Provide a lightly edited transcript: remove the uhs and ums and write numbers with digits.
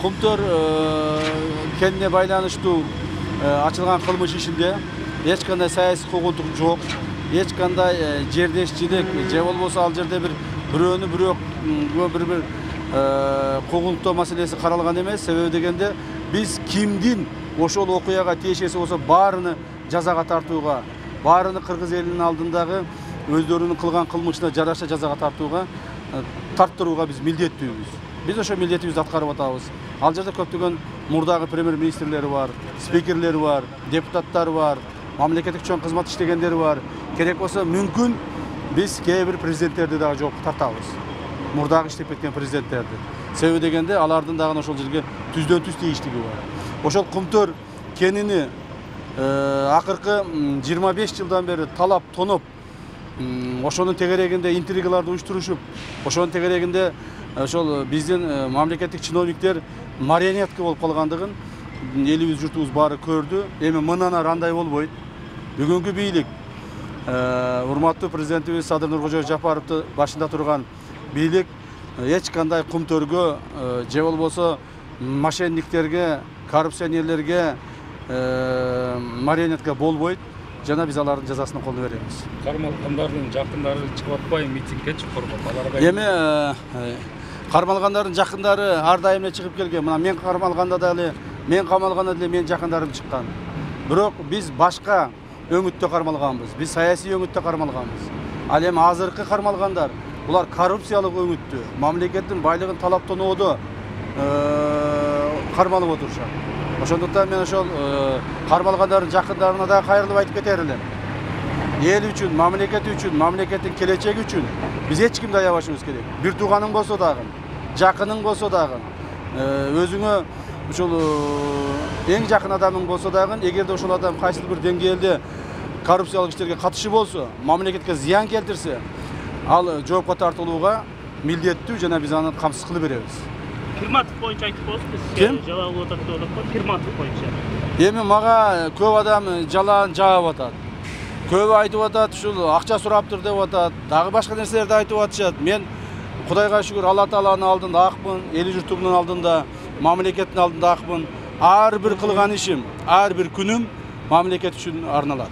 Кумтөр кенне байланыштуу ачылган кылмыш ишинде эч кандай саясий куугунтук жок, эч кандай жердешчилик же болбосо ал жерде бирөөнү бирөө бир куугунтуктоо маселеси каралган эмес. Себеби дегенде биз кимдин ошол окуяга тиешеси болсо баарыны жазага тартууга, баарыны кыргыз элинин алдындагы өздөрүнүн кылган кылмышына жараша жазага тарттырууга биз милдеттүүбүз. Биз ошо милдетибизди аткарып атабыз. Ал жерде көптөгөн мурдагы премьер-министрлери бар, спикерлери бар, депутаттар бар, мамлекеттик чоң кызмат иштегендери бар. Керек болсо мүмкүн биз кээ бир президенттерди дагы жоопко тартабыз. Мурдагы иштеп кеткен президенттерди. Себеби дегенде алардын дагы ошол жерге түздөн түз тийиштиги бар. Ошол Кумтөр кенини акыркы 25 жылдан бери талап тоноп, ошонун тегерегинде интригаларды уюштурушуп, ошонун тегерегинде ошол биздин мамлекеттик чиновниктер марионетка болуп калгандыгын элибиз, журтубуз баары көрдү. Эми мындан ары андай болбойт. Бүгүнкү бийлик, урматтуу президентибиз Садыр Нуркожоевич Жапаровду башында турган бийлик эч кандай Кумтөргө же болбосо мошенниктерге, коррупционерлерге марионетка болбойт. Жана биз алардын жазасын колдоп беребиз. Кармалгандардын жакындары чыгып атпайбы митингге чыккоргон? Эми кармалгандардын жакындары ар дайым эле чыгып келген. Мына мен кармалганда дагы, мен камалганда деле менин жакындарым чыккан. Бирок биз башка өңүттө кармалганбыз. Биз саясий өңүттө кармалганбыз. Ал эми азыркы кармалгандар булар коррупциялык өңүттө, мамлекеттин байлыгын талаптоодо кармалып отурушат. Ошондуктан мен ошол кармалгандардын жакындарына да кайрылып айтып кетер элем. Эл үчүн, мамлекет үчүн, мамлекеттин келечеги үчүн биз эч кимди аябашыбыз керек. Бир тууганың болсо дагы, жакының болсо дагы, өзүңө ошол эң жакын адамың болсо дагы, эгерде ошол адам кайсыл бир деңгээлде коррупциялык иштерге катышы болсо, мамлекетке зыян келтирсе, ал жоопко тартылууга милдеттүү жана биз аны камсыз кылып беребиз. Кирматов боюнча айтып коесузбу, сиз жалаа болуп атат деп атат, Кирматов боюнча. Эми мага көп адам жалаан жаап атат. Көбү айтып атат, ушул акча сураптыр деп атат, дагы башка нерселерди айтып атышат. Мен Кудайга шүгүр Алла Тааланын алдында акмын, эли журтумдун алдында, мамлекеттин алдында акмын. Ар бир кылган ишим, ар бир күнүм мамлекет үчүн арналат.